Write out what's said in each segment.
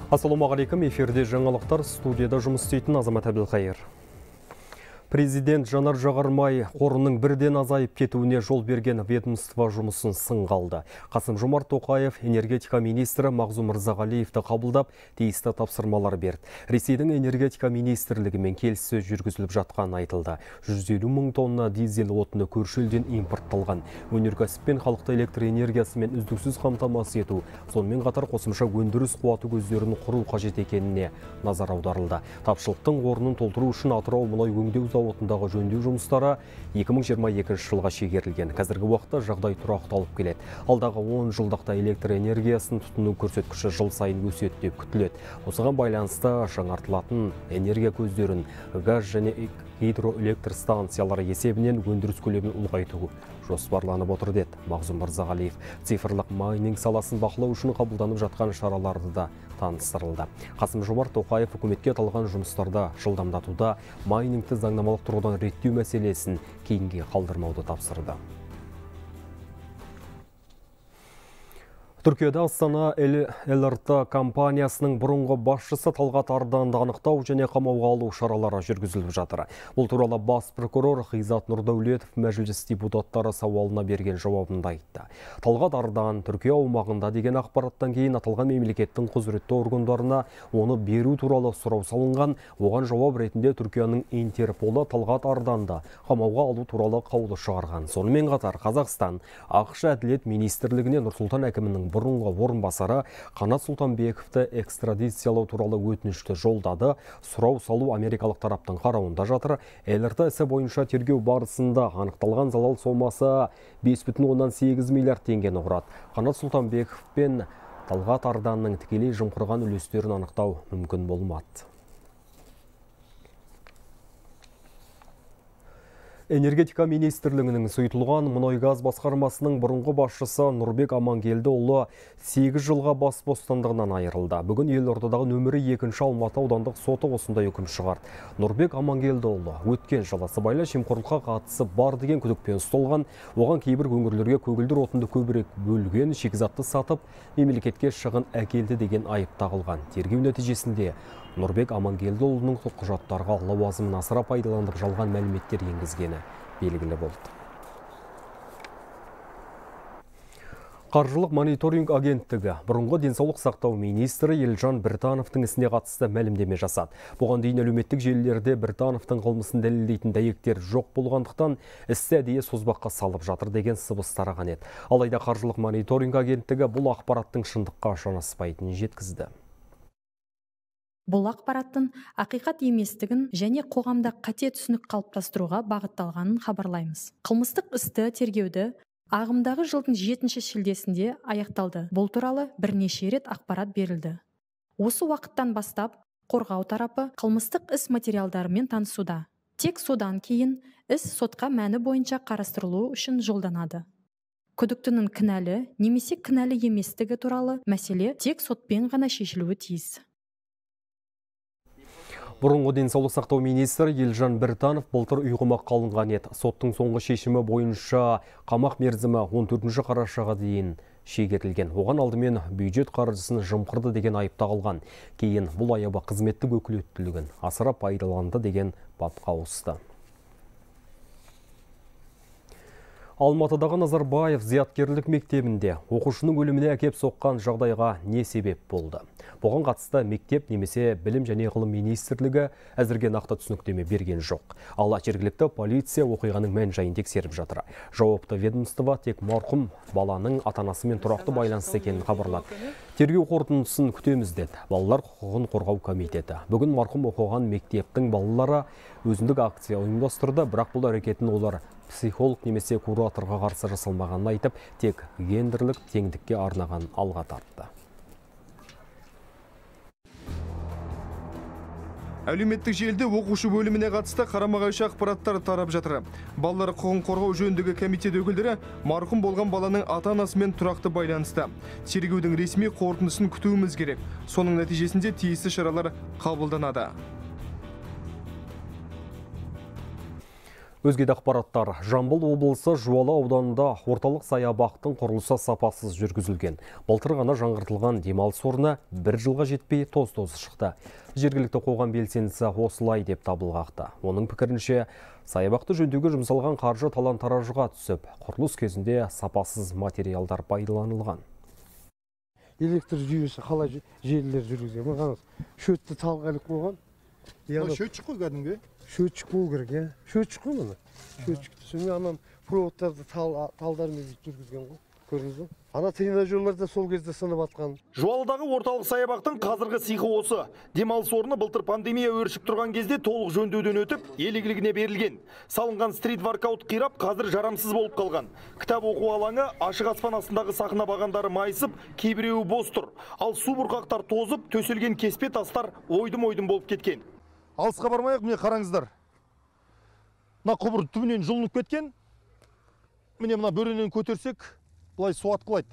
Ассалаумағалейкум, эфирде жаңалықтар, студияда жұмыс істейтін Азамат Әбілқайыр. Президент жанар-жағармай қорының бірден азайып кетуіне жол берген ведомство жұмысын сынға алды. Қасым-Жомарт Тоқаев энергетика министрі Мағзұм Мырзағалиевті қабылдап, тиісті тапсырмалар берді. Ресейдің энергетика министрлігімен келіссөз жүргізіліп жатқан айтылды. 150 мың тонна дизель отыны көрші елден импортталған. Өнеркәсіп пен халықты электр энергиясымен үздіксіз қамтамасыз ету, сонымен қатар қосымша өндіріс қуаты көздерін құру қажет екеніне назар аударылды. Тапшылықтың орнын толтыру үшін Атырау мұнай өңдеу зауытындағы жөндеу жұмыстары 2022 жылға шегерілген. Қазіргі уақытта жағдай тұрақталып келеді. Алдағы 10 жылдықта электр энергиясын тұтыну көрсеткіші жыл сайын өседі деп күтіледі. Осыған байланысты жаңартылатын энергия көздерін газ және гидроэлектр станциялары есебінен өндіріс көлемін ұлғайту жоспарланып отыр деді Мағзұм Мырзағалиев. Цифрлық майнинг саласын бақылау үшін қабылданып жатқан шараларды да таныстырылды. Қасым-Жомарт Тоқаев үкіметке аталған жұмыстарда жылдамдатуда майнингті заңнамалық тұрғыдан реттеу мәселесін кейінге қалдырмауды тапсырды. Түркияда Астана ЛРТ компаниясының бұрынғы басшысы Талғат Арданды анықтау және қамауға алу шаралары жүргізіліп жатыр. Бұл туралы бас прокурор Ғизат Нұрдәулетов мәжіліс депутаттары сауалына берген жауабында айтты. Талғат Ардан Түркия аумағында деген ақпараттан кейін аталған мемлекеттің құзыретті органдарына оны беру туралы сұрау салынған. Оған жауап ретінде Түркияның Интерполы Талғат Арданды қамауға алу туралы қаулы шығарған. Сонымен қатар Қазақстан ақш әділет министрлігіне Нұрсұлтан әкімінің бұрынғы орынбасары Қанат Сұлтанбековті экстрадициялау туралы өтінішті жолдады. Сұрау салу америкалық тараптың қарауында жатыр. ЛРТ ісі бойынша тергеу барысында анықталған залал сомасы 5,8 миллиард теңгені құрады. Қанат Сұлтанбеков пен Талғат Арданның тікелей жымқырған үлестерін анықтау мүмкін болмады. Энергетика министрлігінің сұйытылған мұнай-газ басқармасының бұрынғы басшысы Нұрбек Амангелдіұлы 8 жылға бас бостандығынан айырылды. Бүгін елордадағы нөмірі 2-ші Алматы аудандық соты осындай үкім шығарды. Нұрбек Амангелдіұлы өткен жылы сыбайлас жемқорлыққа қатысы бар деген күдікпен ұсталған. Оған кейбір өңірлерге көгілдір отынды көбірек бөлген, шикізатты сатып, мемлекетке шығын әкелді деген айып тағылған. Тергеу нәтижесінде Нұрбек Амангелдіұлының құжаттарға лауазымын асыра пайдаланып жалған мәліметтер енгізгені белгілі болды. Қаржылық мониторинг агенттігі бұрынғы денсаулық сақтау министрі Елжан Біртановтың ісіне қатысты мәлімдеме жасады. Бұған дейін әлеуметтік желілерде Біртановтың қылмысын дәлелдейтін дәйектер жоқ болғандықтан істі әдейі созбаққа салып жатыр деген сыбыс тараған еді. Алайда қаржылық мониторинг агенттігі бұл ақпараттың шындыққа жанаспайтынын жеткізді. Бұл ақпараттың ақиқат еместігін және қоғамда қате түсінік қалыптастыруға бағытталғанын хабарлаймыз. Қылмыстық істі тергеуді ағымдағы жылдың 7 шілдесінде аяқталды. Бұл туралы бірнеше рет ақпарат берілді. Осы уақыттан бастап қорғау тарапы қылмыстық іс материалдарымен танысуда. Тек содан кейін іс сотқа мәні бойынша қарастырылу үшін жолданады. Күдіктінің кінәлі немесе кінәлі еместігі туралы мәселе тек сотпен ғана шешілуі тиіс. Бұрынғы денсаулық сақтау министрі Елжан Біртанов былтыр ұйғымақ қалынған еді. Соттың соңғы шешімі бойынша қамақ мерзімі 14 қарашаға дейін шегерілген. Оған алдымен бюджет қаржысын жымқырды деген айып тағылған. Кейін бұл айыбы қызметтік өкілеттілігін асыра пайдаланды деген бапқа ауысты. Алматыдағы Назарбаев зияткерлік мектебінде оқушының өліміне әкеп соққан жағдайға не себеп болды? Бұған қатысты мектеп немесе білім және ғылым министрлігі әзірге нақты түсініктеме берген жоқ. Ал жергілікті полиция оқиғаның мән-жайын тексеріп жатыр. Жауапты ведомство тек марқұм баланың ата-анасымен тұрақты байланысты екенін хабарлады. Тергеу қорытындысын күтеміз деді Балалар құқығын қорғау комитеті. Бүгін марқұм оқыған мектептің балалары өзіндік акция ұйымдастырды, бірақ бұл әрекетін олар психолог немесе кураторға қарсы жасалмағанын айтып, тек гендерлік теңдікке арнаған алға тартты. Әлеуметтік желіде оқушы бөліміне қатысты қарама-қайшы ақпараттар тарап жатыр. Балалар құқығын қорғау жөніндегі комитет өкілдері марқұм болған баланың ата-анасымен тұрақты байланысты. Тергеудің ресми қорытындысын күтуіміз керек. Соның нәтижесінде тиісті шаралар қабылданады. Өзге де ақпараттар. Жамбыл облысы Жуалы ауданында орталық саябақтың құрылысы сапасыз жүргізілген. Былтыр ғана жаңғыртылған демалыс орны бір жылға жетпей тоз-тозы шықты. Жергілікті қоғам белсендісі осылай деп дабыл қақты. Оның пікірінше, саябақты жөндеуге жұмсалған қаржы талан-таражға түсіп, құрылыс кезінде сапасыз материалдар пайдаланылған. Электр жүйесі қалай желілер жүргізген. Маған шөтті талғайлық болған. Шөтшік қой кәдімгі? Шөтшік болу керек, иә. Шөтшік қой мұны. Шөтшікті сонымен анан проводтарды талдармен жүргізген ғой. Көрдіңіз бе? Ана тренажерларда сол кезде сынып атқан. Жуалыдағы орталық саябақтың қазіргі сиқы осы. Демалыс орны былтыр пандемия өршіп тұрған кезде толық жөндеуден өтіп, ел игілігіне берілген. Салынған стрит-воркаут қирап, қазір жарамсыз болып қалған. Кітап оқу алаңы ашық аспан астындағы сахна бағандары майысып, кейбіреуі бос тұр. Ал су бұрқақтар тозып, төселген кеспе тастар ойдым-ойдым болып кеткен. Алысқа бармайық, міне қараңыздар. Мына құбыр түбінен жұлынып кеткен. Міне мына бөренен көтерсек, бұлай су атқылайды.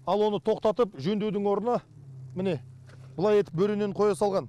Ал оны тоқтатып, жөндеудің орнына, міне, бұлай етіп бөренен қоя салған.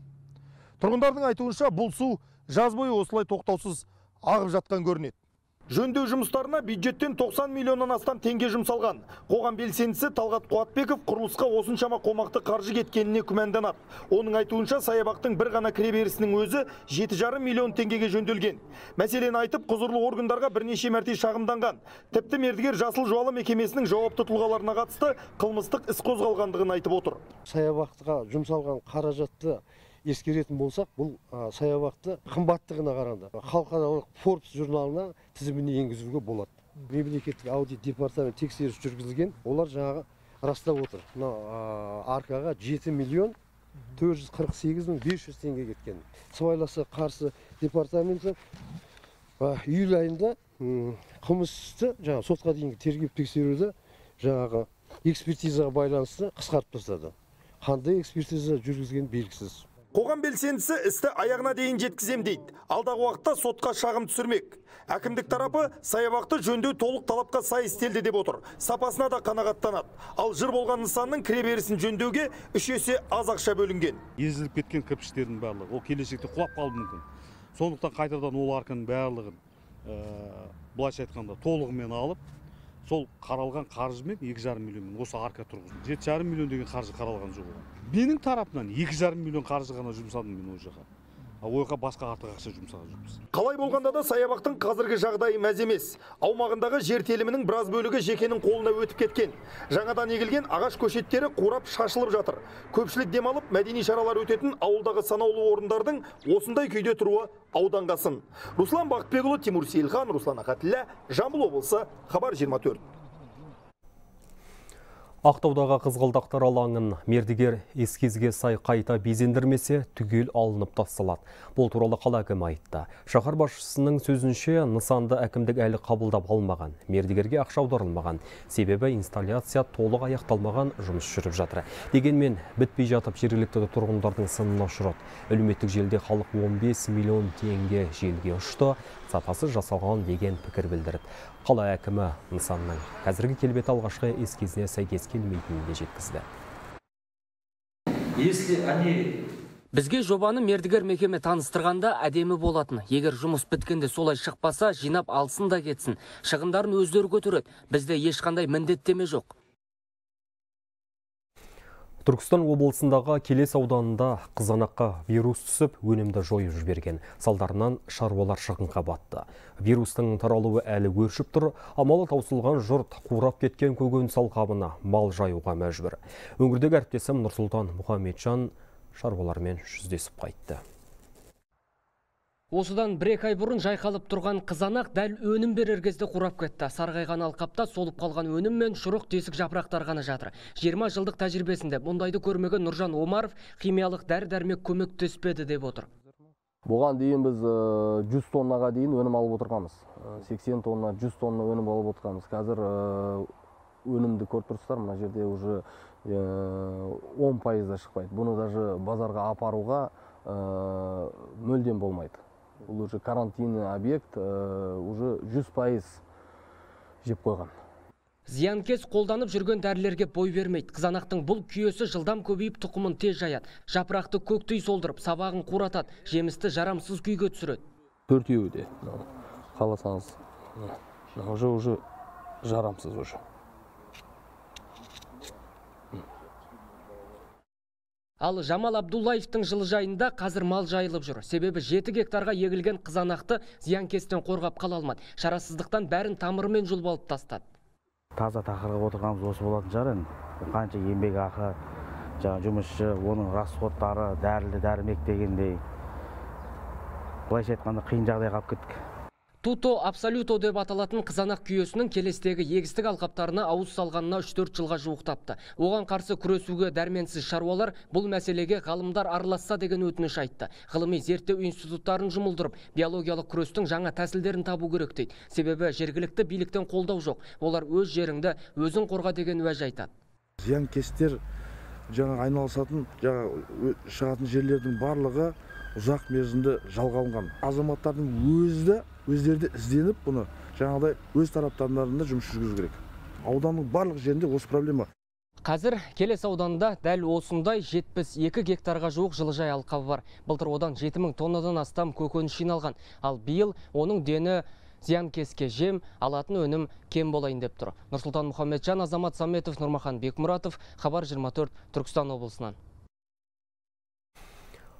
Тұрғындардың айтуынша, бұл су жаз бойы осылай тоқтаусыз ағып жатқан көрінеді. Жөндеу жұмыстарына бюджеттен 90 миллионнан астам теңге жұмсалған. Қоғам белсендісі Талғат Қуатбеков құрылысқа осыншама қомақты қаржы кеткеніне күмәнданады. Оның айтуынша, саябақтың бір ғана кіреберісінің өзі 7,5 миллион теңгеге жөнделген. Мәселені айтып, құзырлы органдарға бірнеше мәрте шағымданған. Тіпті мердігер Жасыл Жуалы мекемесінің жауапты тұлғаларына қатысты қылмыстық іс қозғалғандығын айтып отыр. Саябаққа жұмсалған қаражатты ескеретін болсақ, бұл саябақты қымбаттығына қарағанда халықаралық Forbes журналына тізіміне енгізуге болады. Мемлекеттік аудит департамент тексеріс жүргізілген, олар жаңағы растап отыр. Аркаға 7 миллион 448 мың 500 теңге кеткен. Сыбайласқа қарсы департаменті июль айында қылмысты сотқа дейінгі тергеп тексеруді жаңағы экспертизаға байланысты қысқартып тастады. Қандай экспертиза жүргізген белгісіз. Қоғам белсендісі істі аяғына дейін жеткізем дейді. Алдағы уақытта сотқа шағым түсірмек. Әкімдік тарапы саябақты жөндеу толық талапқа сай істелді деп отыр. Сапасына да қанағаттанады. Ал жыр болған нысанның кіреберісін жөндеуге 3 есе аз ақша бөлінген. Езіліп кеткен кірпіштердің барлығы, ол келешекте құлап қалуы мүмкін. Сондықтан қайтадан ол арканың барлығын былайша айтқанда толығымен алып, сол қаралған қаржымен 2,5 миллион осы арка тұрғызды. 7,5 миллион деген қаржы қаралған жоқ. Менің тарапынан 2,5 миллион қаржы ғана жұмсадым мен ол жаққа. Ойға басқа артық ақша жұмсаған жоқпыз. Қалай болғанда да саябақтың қазіргі жағдайы мәз емес. Аумағындағы жер телімінің біраз бөлігі жекенің қолына өтіп кеткен. Жаңадан егілген ағаш көшеттері қурап шашылып жатыр. Көпшілік демалып, мәдени шаралар өтетін ауылдағы санаулы орындардың осындай күйде тұруы ауданға сын. Руслан Бақытбекұлы, Тимур Сейілхан, Руслан Ақатіллә, Жамбыл облысы, Хабар 24. Ақтаудағы қызғалдақтар алаңын мердігер эскизге сай қайта безендірмесе түгел алынып тасталады. Бұл туралы қала әкімі айтты. Шаһар басшысының сөзінше нысанды әкімдік әлі қабылдап алмаған. Мердігерге ақша аударылмаған. Себебі инсталляция толық аяқталмаған, жұмыс жүріп жатыр. Дегенмен бітпей жатып жергілікті тұрғындардың сынына ұшырады. Әлеуметтік желіде халық 15 миллион теңге желге ұшты. Сапасы жасалған деген пікір білдірді. Қала әкімі нысанның қазіргі келбеті алғашқы эскизіне сәйкес келмейтінін де жеткізді. Бізге жобаны мердігер мекеме таныстырғанда әдемі болатын. Егер жұмыс біткенде солай шықпаса, жинап алсын да кетсін. Шығындарын өздері көтереді. Бізде ешқандай міндеттеме жоқ. Түркістан облысындағы Келес ауданында қызанаққа вирус түсіп, өнімді жойып жіберген. Салдарынан шаруалар шығынға батты. Вирустың таралуы әлі өршіп тұр, амалы таусылған жұрт қурап кеткен көкөніс алқабына мал жаюға мәжбүр. Өңірдегі әріптесім Нұрсұлтан Мұхамеджан шаруалармен жүздесіп қайтты. Осыдан 1-2 ай бұрын жайқалып тұрған қызанақ дәл өнім берер кезде қурап кетті. Сарғайған алқапта солып қалған өнім мен шұрық тесік жапырақтар ғана жатыр. 20 жылдық тәжірибесінде мұндайды көрмеген Нұржан Омаров химиялық дәрі-дәрмек көмектеспеді деп отыр. Бұған дейін біз 100 тоннаға дейін өнім алып отырғанбыз. 80 тонна, 100 тонна өнім алып отырғанбыз. Қазір өнімді көріп тұрсыздар, мына жерде уже 10% шықпайды. Бұны даже базарға апаруға мүлдем болмайды. Бұл уже карантинный объект, уже 100% жеп қойған. Зиянкес қолданып жүрген дәрілерге бой бермейді. Қызанақтың бұл күйесі жылдам көбейіп тұқымын тез жаяды. Жапырақты көктей солдырып, сабағын қуратады, жемісті жарамсыз күйге түсіреді. Төртеуі де. қаласаңыз. Уже жарамсыз уже. Ал Жамал Абдуллаевтың жылыжайында қазір мал жайылып жүр. Себебі 7 гектарға егілген қызанақты зиянкестен қорғап қала алмады. Шарасыздықтан бәрін тамырымен жұлып алып тастады. Таза тақырып отырғанымыз осы болатын шығар енді. Қанша еңбек ақы, жұмысшы, оның расходтары, дәрілік дегендей. Былайша айтқанда қиын жағдайға алып кеттік. Туто абсолюто деп аталатын қызанақ күйесінің келестегі егістік алқаптарына ауыз салғанына 3-4 жылға жуықтапты. Оған қарсы күресуге дәрменсіз шаруалар бұл мәселеге ғалымдар араласса деген өтініш айтты. Ғылыми зерттеу институттарын жұмылдырып, биологиялық күрестің жаңа тәсілдерін табу керек дейді. Себебі жергілікті биліктен қолдау жоқ. Олар өз жеріңді өзің қорға деген уәж айтады. Зиянкестер айналысатын шығатын жерлердің барлығы ұзақ мерзімді жалға алынған. Азаматтардың өздері ізденіп, бұны жаңағыдай өз тараптарында жұмыс жүргізу керек. Ауданның барлық жерінде осы проблема. Қазір Келес ауданында дәл осындай 72 гектарға жуық жылыжай алқабы бар. Былтыр одан 7000 тоннадан астам көкөніс жиналған. Ал биыл оның дені зиянкеске жем, алатын өнім кем болайын деп тұр. Нұрсұлтан Мұхамеджан, Азамат Саметов, Нұрмахан Бекмұратов, Хабар 24, Түркістан облысынан.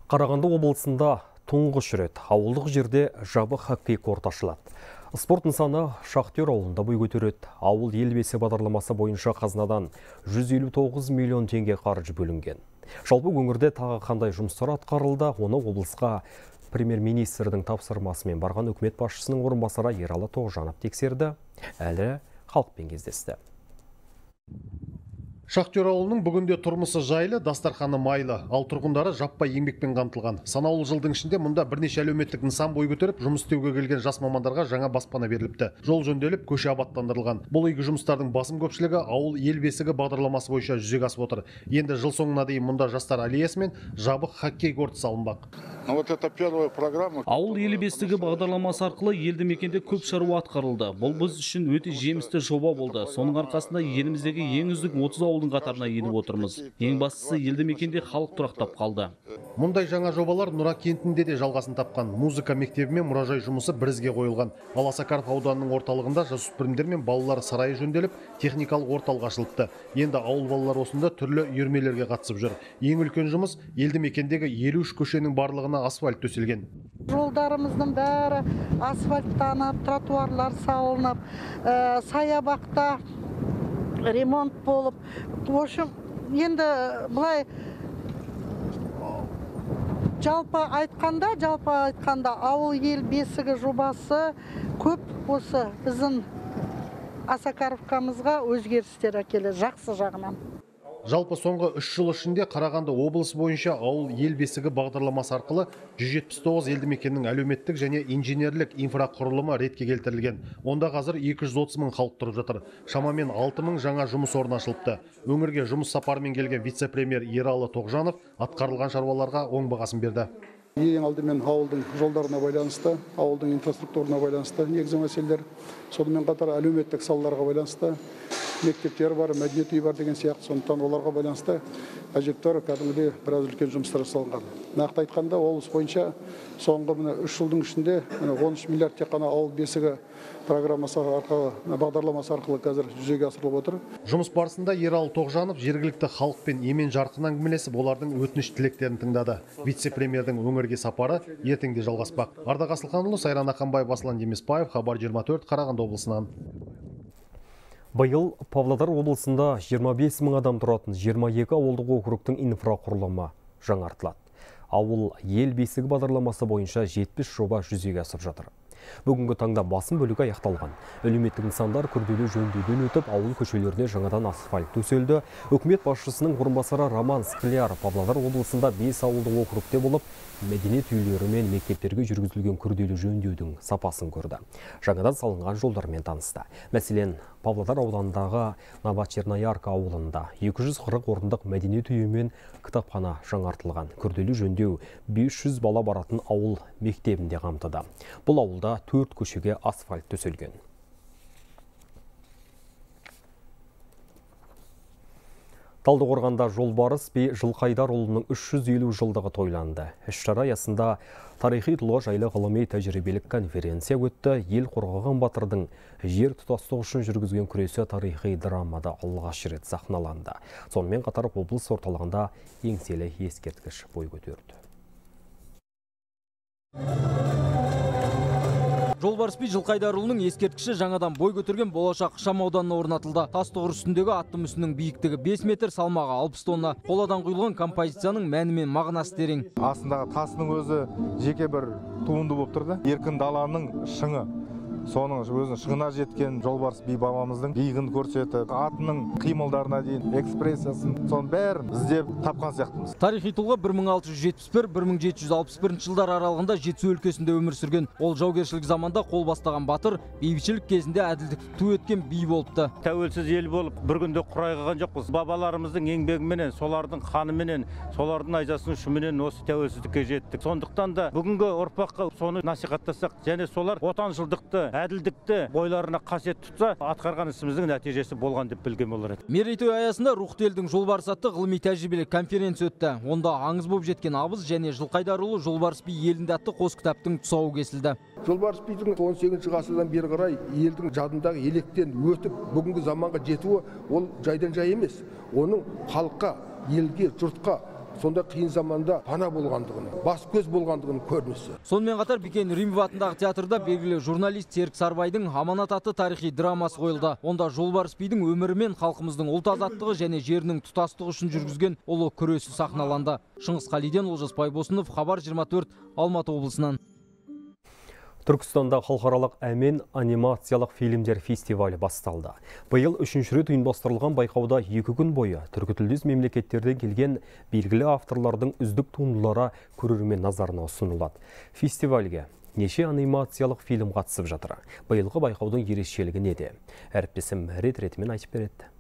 Қарағанды облысында тұңғыш рет ауылдық жерде жабық хоккей корты ашылады. Спорт нысаны Шахтер ауылында бой көтереді. Ауыл ел бесі бағдарламасы бойынша қазынадан 159 миллион теңге қаржы бөлінген. Жалпы өңірде тағы қандай жұмыстар атқарылды, оны облысқа премьер-министрдің тапсырмасымен барған үкімет басшысының орынбасары Ералы Тоғжанов тексерді. Әлі халықпен кездесті. Шахтер ауылының бүгінде тұрмысы жайлы, дастарханы майлы, ал тұрғындары жаппай еңбекпен қамтылған. Санаулы жылдың ішінде мұнда бірнеше әлеуметтік нысан бой көтеріп, жұмыс істеуге келген жас мамандарға жаңа баспана беріліпті. Жол жөнделіп, көше абаттандырылған. Бұл игі жұмыстардың басым көпшілігі ауыл ел бесігі бағдарламасы бойынша жүзеге асып отыр. Енді жыл соңына дейін мұнда жастар аллеясы мен жабық хоккей корты салынбақ. Ауыл ел бесігі бағдарламасы арқылы елді мекенде көп шаруа атқарылды. Бұл біз үшін өте жемісті жоба болды. Соның арқасында еліміздегі ең үздік 30 ауылдың қатарына еніп отырмыз. Ең бастысы елді мекенде халық тұрақтап қалды. Мұндай жаңа жобалар Нұра кентінде де жалғасын тапқан. Музыка мектебі мен мұражай жұмысы бірізге қойылған. Ал Асакаров ауданының орталығында жасөспірімдер мен балалар сарайы жөнделіп, техникалық орталық ашылыпты. Енді ауыл балалар осында түрлі үйірмелерге қатысып жүр. Ең үлкен жұмыс елді мекендегі 53 көшенің барлығына асфальт төселген. Жолдарымыздың бәрі асфальттанып, тротуарлар салынып, саябақта ремонт болып, в общем, енді былай жалпы айтқанда ауыл ел бесігі жобасы көп осы біздің Асакаровкамызға өзгерістер әкелді, жақсы жағынан. Жалпы соңғы 3 жыл ішінде Қарағанды облысы бойынша ауыл ел бесігі бағдарламасы арқылы 179 елді мекеннің әлеуметтік және инженерлік инфрақұрылымы ретке келтірілген. Онда қазір 230 мың халық тұрып жатыр. Шамамен 6 мың жаңа жұмыс орны ашылыпты. Өңірге жұмыс сапарымен келген вице-премьер Ералы Тоғжанов атқарылған шаруаларға оң бағасын берді. Ең алдымен ауылдың жолдарына байланысты, ауылдың инфраструктурына байланысты негізгі мәселелер, сонымен қатар әлеуметтік салаларға байланысты, мектептер бар, мәдениет үйі бар деген сияқты, сондықтан оларға байланысты әжептәуір кәдімгідей біраз үлкен жұмыстар жасалынған. Нақты айтқанда облыс бойынша соңғы 3 жылдың ішінде 13 миллиард тек қана ауыл бесігі программасы арқылы, бағдарламасы арқылы қазір жүзеге асырылып отыр. Жұмыс барысында Ералы Тоғжанов жергілікті халықпен емен жарқын әңгімелесіп, олардың өтініш тілектерін тыңдады. Вице-премьердің өңірге сапары ертеңде жалғаспақ. Ардақ Асылханұлы, Сайран Ақанбаев, Аслан Демесбаев, Хабар 24, Қарағанды облысынан. Биыл Павлодар облысында 25 мың адам тұратын 22 ауылдық округтің инфрақұрылымы жаңартылады. Ауыл ел бесігі бағдарламасы бойынша 70 жоба жүзеге асып жатыр. Бүгінгі таңда басым бөлігі аяқталған. Әлеуметтік нысандар күрделі жөндеуден өтіп, ауыл көшелеріне жаңадан асфальт төселді. Үкімет басшысының орынбасары Роман Скляр Павлодар облысында 5 ауылдық округте болып, мәдениет үйлері мен мектептерге жүргізілген күрделі жөндеудің сапасын көрді. Жаңадан салынған жолдармен танысты. Мәселен, Павлодар ауданындағы Новочерноярка ауылында 240 орындық мәдениет үйі мен кітапхана жаңартылған. Күрделі жөндеу 500 бала баратын ауыл мектебінде қамтыды. Бұл ауылда 4 көшеге асфальт төселген. Талдықорғанда Жолбарыс би Жылқайдарұлының 350 жылдығы тойланды. Іс-шара аясында Тарихи тұлға жайлы ғылыми тәжірибелік конференция өтті. Ел қорғаған батырдың жер тұтастығы үшін жүргізген күресі тарихи драмада алғаш рет сахналанды. Сонымен қатар облыс орталығында еңселі ескерткіш бой көтерді. Жолбарыс би Жылқайдарұлының ескерткіші жаңадан бой көтерген болашақ ықшам ауданына орнатылды. Тас тұғыр үстіндегі атты мүсіннің биіктігі 5 метр, салмағы 60 тонна. Қоладан құйылған композицияның мәні мен мағынасы терең. Астындағы тасының өзі жеке бір туынды болып тұрды. Еркін даланың шыңы. Соның өзінің шыңына жеткен Жолбарыс би бабамыздың биігін көрсетіп, атының қимылдарына дейін экспрессиясын, соның бәрін іздеп тапқан сияқтымыз. Тарихи тұлға 1671-1761 жылдар аралығында Жетісу өлкесінде өмір сүрген. Ол жаугершілік заманда қол бастаған батыр, бейбітшілік кезінде әділдікті ту еткен би болыпты. Тәуелсіз ел болып, бір күнде құрайған жоқпыз. Бабаларымыздың еңбегіменен, солардың қанымен, солардың айзасының үшіменен осы тәуелсіздікке жеттік. Сондықтан да бүгінгі ұрпаққа соны насихаттасақ, және солар отаншылдықты, әділдікті бойларына қасиет тұтса, атқарған ісіміздің нәтижесі болған деп білген болар еді. Мерейтой аясында Рухты елдің Жолбарысы атты ғылыми тәжірибелік конференция өтті. Онда аңыз болып жеткен абыз және Жылқайдарұлы Жолбарыс би елінде атты қос кітаптың тұсауы кесілді. Жолбарыс бидің 18 ғасырдан бері қарай елдің жадындағы електен өтіп, бүгінгі заманға жетуі ол жайдан жай емес. Оның халыққа, елге, жұртқа сонда қиын заманда пана болғандығын, бас көз болғандығын көрінісі. Сонымен қатар Бикен Римов атындағы театрда белгілі журналист Серік Сарбайдың Аманат атты тарихи драмасы қойылды. Онда Жолбарыс бидің өмірі мен халқымыздың ұлт азаттығы және жерінің тұтастығы үшін жүргізген ұлы күресі сахналанды. Шыңғыс Қалиден, Олжас Байбосынов, Хабар 24, Алматы облысынан. Түркістанда халықаралық әмен анимациялық фильмдер фестивалі басталды. Биыл 3-ші рет ұйымдастырылған байқауда 2 күн бойы түркітілдес мемлекеттерден келген белгілі авторлардың үздік туындылары көрермен назарына ұсынылады. Фестивальге неше анимациялық фильм қатысып жатыр. Биылғы байқаудың ерекшелігі неде? Әріптесім рет-ретімен айтып береді.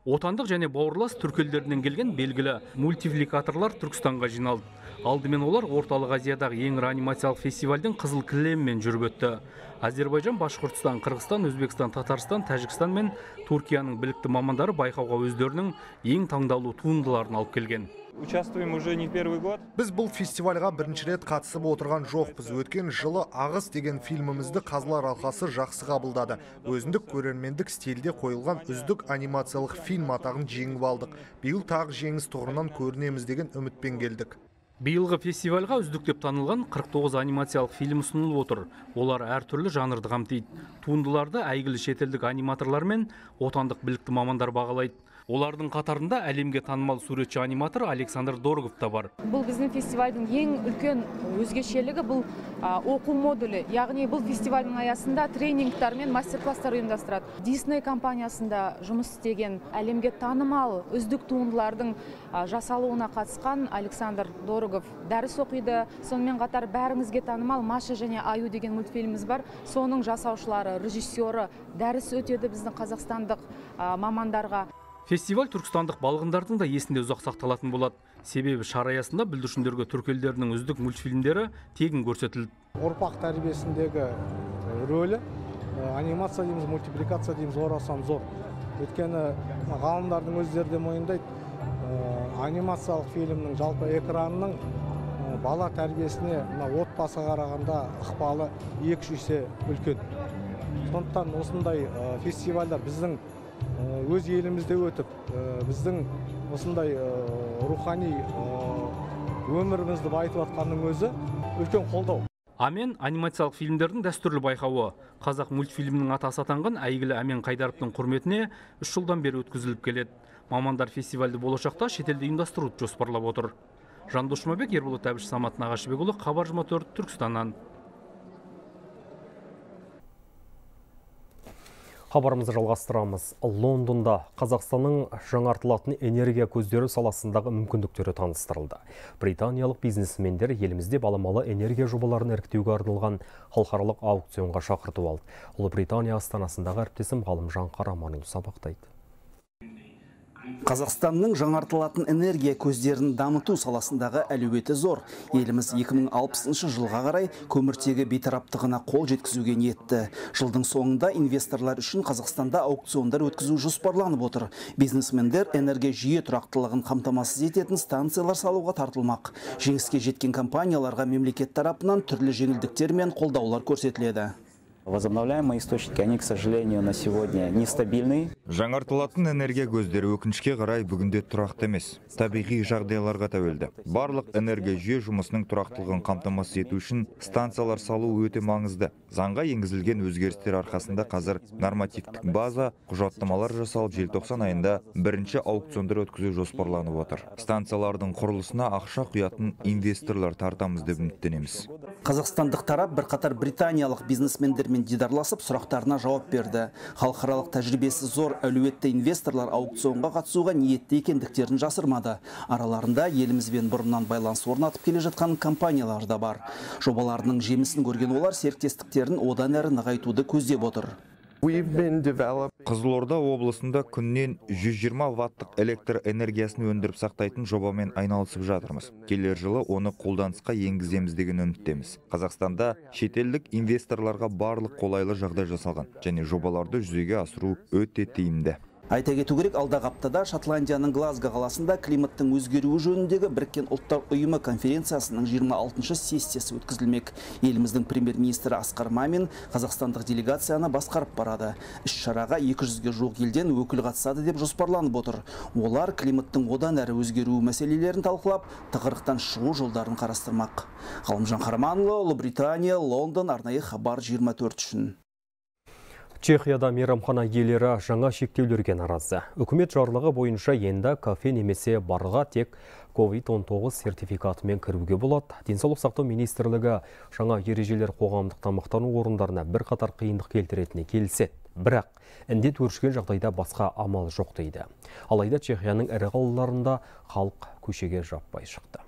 Отандық және бауырлас түркі елдерінен келген белгілі мультипликаторлар Түркістанға жиналды. Алдымен олар орталық Азиядағы ең ірі анимациялық фестивальдің қызыл кілемімен жүріп өтті. Азербайжан, Башқұртстан, Қырғызстан, Өзбекстан, Татарстан, Тәжікстан мен Түркияның білікті мамандары байқауға өздерінің ең таңдаулы туындыларын алып келген. Участвуем уже не первый год. Біз бұл фестивальға бірінші рет қатысып отырған жоқпыз. Өткен жылы Ағыс деген фильмімізді Қазылар алқасы жақсы қабылдады. Өзіндік көрермендік стильде қойылған үздік анимациялық фильм атағын жеңіп алдық. Биыл тағы жеңіс тұғырынан көрінеміз деген үмітпен келдік. Биылғы фестивальға үздік деп танылған 49 анимациялық фильм ұсынылып отыр. Олар әртүрлі жанрды қамтиды. Туындыларды әйгілі шетелдік аниматорлар мен отандық білікті мамандар бағалайды. Олардың қатарында әлемге танымал суретші аниматор Александр Дорогов та бар. Бұл біздің фестивальдің ең үлкен өзгешелігі бұл оқу модулі. Яғни бұл фестивальдің аясында тренингтар мен мастер-класстар ұйымдастырады. Disney компаниясында жұмыс істеген әлемге танымал үздік туындылардың жасалуына қатысқан Александр Дорогов дәріс оқиды. Сонымен қатар бәріңізге танымал Маша және Аю деген мультфильміміз бар. Соның жасаушылары, режиссері дәріс өтеді біздің қазақстандық мамандарға. Фестиваль түркістандық балғындардың да есінде ұзақ сақталатын болады. Себебі шара аясында бүлдіршіндерге түркі елдерінің үздік мультфильмдері тегін көрсетілді. Ұрпақ тәрбиесіндегі рөлі анимация дейміз, мультипликация дейміз, орасан зор. Өйткені ғалымдардың өздері де мойындайды, анимациялық фильмнің жалпы экранның бала тәрбиесіне отбасыға қарағанда ықпалы 2-3 есе үлкен. Сондықтан осындай фестивальдар біздің өз елімізде өтіп, біздің осындай рухани өмірімізді байытып атқанның өзі үлкен қолдау. Амен анимациялық фильмдердің дәстүрлі байқауы. Қазақ мультфильмінің атасы атанған әйгілі Амен Қайдаровтың құрметіне 3 жылдан бері өткізіліп келеді. Мамандар фестивальді болашақта шетелде ұйымдастыруды жоспарлап отыр. Жандос Жұмабек, Ерболат Әбіш, Самат Нағашыбекұлы, Хабар 24, Түркістаннан. Хабарымызды жалғастырамыз. Лондонда Қазақстанның жаңартылатын энергия көздері саласындағы мүмкіндіктері таныстырылды. Британиялық бизнесмендер елімізде баламалы энергия жобаларын іріктеуге арналған халықаралық аукционға шақыртып алды. Ұлыбритания астанасындағы әріптесім Ғалымжан Қараманұлы сабақтайды. Қазақстанның жаңартылатын энергия көздерін дамыту саласындағы әлеуеті зор. Еліміз 2060 жылға қарай көміртегі бейтараптығына қол жеткізуге ниетті. Жылдың соңында инвесторлар үшін Қазақстанда аукциондар өткізу жоспарланып отыр. Бизнесмендер энергия жүйе тұрақтылығын қамтамасыз ететін станциялар салуға тартылмақ. Жеңіске жеткен компанияларға мемлекет тарапынан түрлі жеңілдіктер мен қолдаулар көрсетіледі. Возобновляемые источники, они, к сожалению, на сегодня нестабильны. Жаңартылатын энергия көздері өкінішке қарай бүгінде тұрақты емес. Табиғи жағдайларға тәуелді. Барлық энергия жүйе жұмысының тұрақтылығын қамтамасыз ету үшін станциялар салу өте маңызды. Заңға енгізілген өзгерістер арқасында қазір нормативтік база, құжаттамалар жасалып, желтоқсан айында бірінші аукциондар өткізу жоспарланып отыр. Станциялардың құрылысына ақша құятын инвесторлар тартамыз деп үміттенеміз. Қазақстандық тарап бірқатар британиялық бизнесмендермен дидарласып, сұрақтарына жауап берді. Халықаралық тәжірибесі зор әлеуетті инвесторлар аукционға қатысуға ниетті екендіктерін жасырмады. Араларында елімізбен бұрыннан байланыс орнатып келе жатқан компаниялар да бар. Жобаларының жемісін көрген олар серіктестіктерін одан әрі нығайтуды көздеп отыр. Қызылорда облысында күннен 120 ваттық электр энергиясын өндіріп сақтайтын жобамен айналысып жатырмыз. Келер жылы оны қолданысқа енгіземіз деген үміттеміз. Қазақстанда шетелдік инвесторларға барлық қолайлы жағдай жасалған және жобаларды жүзеге асыру өте тиімді. Айта кету керек, алдағы аптада Шотландияның Глазго қаласында климаттың өзгеруі жөніндегі Біріккен ұлттар ұйымы конференциясының 26-шы сессиясы өткізілмек. Еліміздің премьер-министрі Асқар Мамин қазақстандық делегацияны басқарып барады. Іс-шараға 200-ге жуық елден өкіл қатысады деп жоспарланып отыр. Олар климаттың одан әрі өзгеруі мәселелерін талқылап, тығырықтан шығу жолдарын қарастырмақ. Ғалымжан Қараманұлы, Ұлыбритания, Лондон, арнайы хабар 24 үшін. Чехияда мейрамхана иелері жаңа шектеулерге наразы. Үкімет жарлығы бойынша енді кафе немесе барға тек COVID-19 сертификатымен кіруге болады. Денсаулық сақтау министрлігі жаңа ережелер қоғамдық тамақтану орындарына бірқатар қиындық келтіретініне келіседі. Бірақ індет өршіген жағдайда басқа амал жоқ дейді. Алайда Чехияның ірі қалаларында халық көшеге жаппай шықты.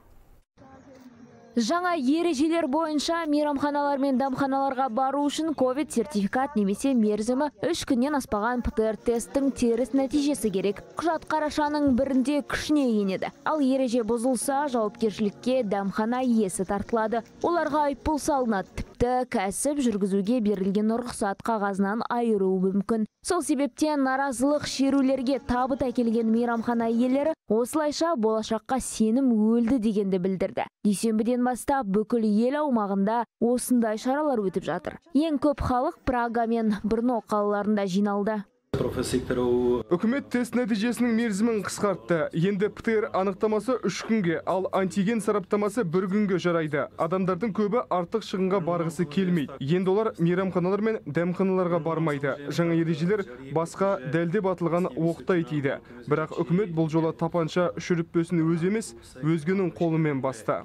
Жаңа ережелер бойынша мейрамханалар мен дәмханаларға бару үшін COVID сертификат немесе мерзімі 3 күннен аспаған ПЦР тесттің теріс нәтижесі керек. Құжат қарашаның бірінде күшіне енеді. Ал ереже бұзылса, жауапкершілікке дәмхана иесі тартылады. Оларға айыппұл салынады. Тіпті кәсіп жүргізуге берілген рұқсат қағазынан айыруы мүмкін. Сол себептен наразылық шерулерге табыт әкелген мейрамхана иелері осылайша болашаққа сенім өлді дегенді білдірді. Дүйсенбіден бастап бүкіл ел аумағында осындай шаралар өтіп жатыр. Ең көп халық Прага мен Брно қалаларында жиналды. Үкімет тест нәтижесінің мерзімін қысқартты. Енді ПЦР анықтамасы 3 күнге, ал антиген сараптамасы 1 күнге жарайды. Адамдардың көбі артық шығынға барғысы келмейді. Енді олар мейрамханалар мен дәмханаларға бармайды. Жаңа ережелер басқа дәлдеп атылған оқтай тиді. Бірақ үкімет бұл жолы тапанша шүріппесін өз емес, өзгенің қолымен басты.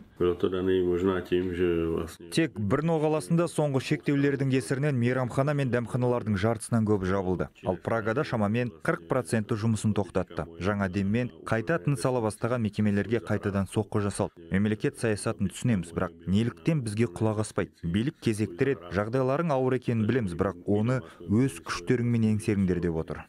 Тек Брно қаласында соңғы шектеулердің кесірінен мейрамхана мен дәмханалардың жартысынан көбі жабылды. Ал Прагада шамамен 40% жұмысын тоқтатты. Жаңа деммен қайта тыныс ала бастаған мекемелерге қайтадан соққы жасалды. Мемлекет саясатын түсінеміз, бірақ неліктен бізге құлақ аспайды? Билік кезектіреді, жағдайларың ауыр екенін білеміз, бірақ оны өз күштеріңмен еңсеріңдер деп отыр.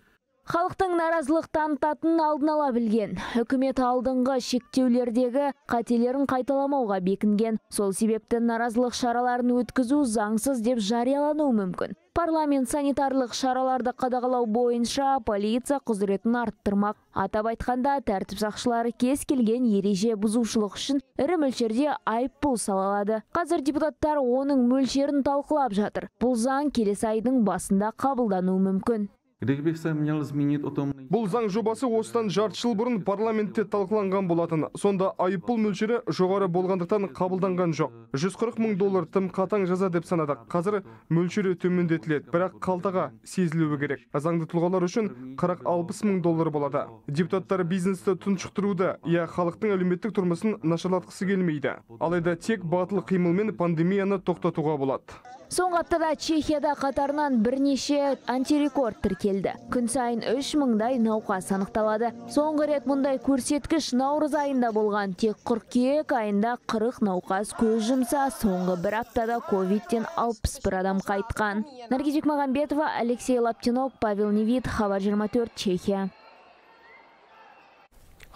Халықтың наразылық танытатын алдын ала білген. Үкімет алдыңғы шектеулердегі қателерін қайталамауға бекінген. Сол себепті наразылық шараларын өткізу заңсыз деп жариялануы мүмкін. Парламент санитарлық шараларды қадағалау бойынша полиция құзыретін арттырмақ. Атап айтқанда, тәртіп сақшылары кез келген ереже бұзушылық үшін ірі мөлшерде айыппұл салады. Қазір депутаттар оның мөлшерін талқылап жатыр. Бұл заң келесі айдың басында қабылдануы мүмкін. Бұл заң жобасы осыдан жарты жыл бұрын парламентте талқыланған болатын. Сонда айыппұл мөлшері жоғары болғандықтан қабылданған жоқ. 140 мың доллар тым қатаң жаза деп санадық. Қазір мөлшері төмендетіледі, бірақ қалтаға сезілуі керек. Заңды тұлғалар үшін 40-60 мың доллар болады. Депутаттар бизнесті тұншықтыруды, халықтың әлеуметтік тұрмысын нашарлатқысы келмейді. Алайда тек батыл қимылмен пандемияны тоқтатуға болады. Соңғы аптада Чехияда қатарынан бірнеше антирекорд тіркелді. Күн сайын 3000-дай науқас анықталады. Соңғы рет мұндай көрсеткіш наурыз айында болған. Тек қыркүйек айында 40 науқас көз жұмса, соңғы бір аптада ковидтен 61 адам қайтқан. Наргиз Бекмағамбетова, Алексей Лаптинок, Павел Невит, Хабар 24, Чехия.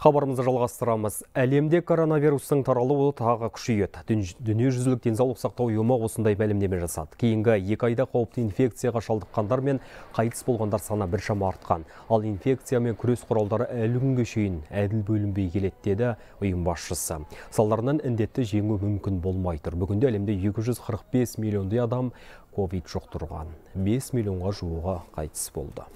Хабарымызды жалғастырамыз. Әлемде коронавирустың таралуы тағы күшейеді. Дүниежүзілік денсаулық сақтау ұйымы осындай мәлімдеме жасады. Кейінгі 2 айда қауіпті инфекцияға шалдыққандар мен қайтыс болғандар саны біршама артқан. Ал инфекциямен күрес құралдары әлі күнге шейін әділ бөлінбей келеді деді ұйым басшысы. Салдарынан індетті жеңу мүмкін болмай тұр. Бүгінде әлемде 245 миллиондай адам ковид жұқтырған. 5 миллионға жуығы қайтыс болды.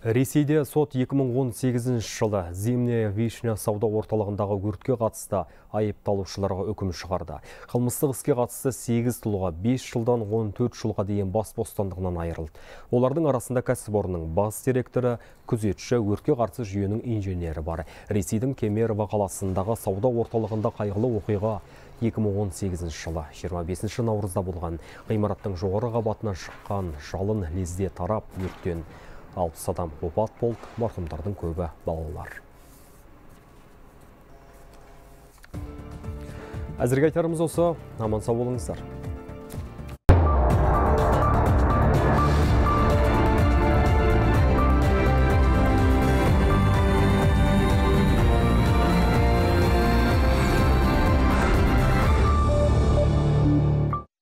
Ресейде сот 2018 жылы Зимняя Вишня сауда орталығындағы өртке қатысты айыпталушыларға үкім шығарды. Қылмыстық іске қатысты 8 тұлға 5 жылдан 14 жылға дейін бас бостандығынан айырылды. Олардың арасында кәсіпорынның бас директоры, күзетші, өртке қарсы жүйенің инженері бар. Ресейдің Кемерово қаласындағы сауда орталығында қайғылы оқиға 2018 жылы 25 наурызда болған. Ғимараттың жоғары қабатынан шыққан жалын лезде тарап, өрттен 60 адам опат болды, марқұмдардың көбі балалар. Әзірге айтарымыз осы, аман сау болыңыздар.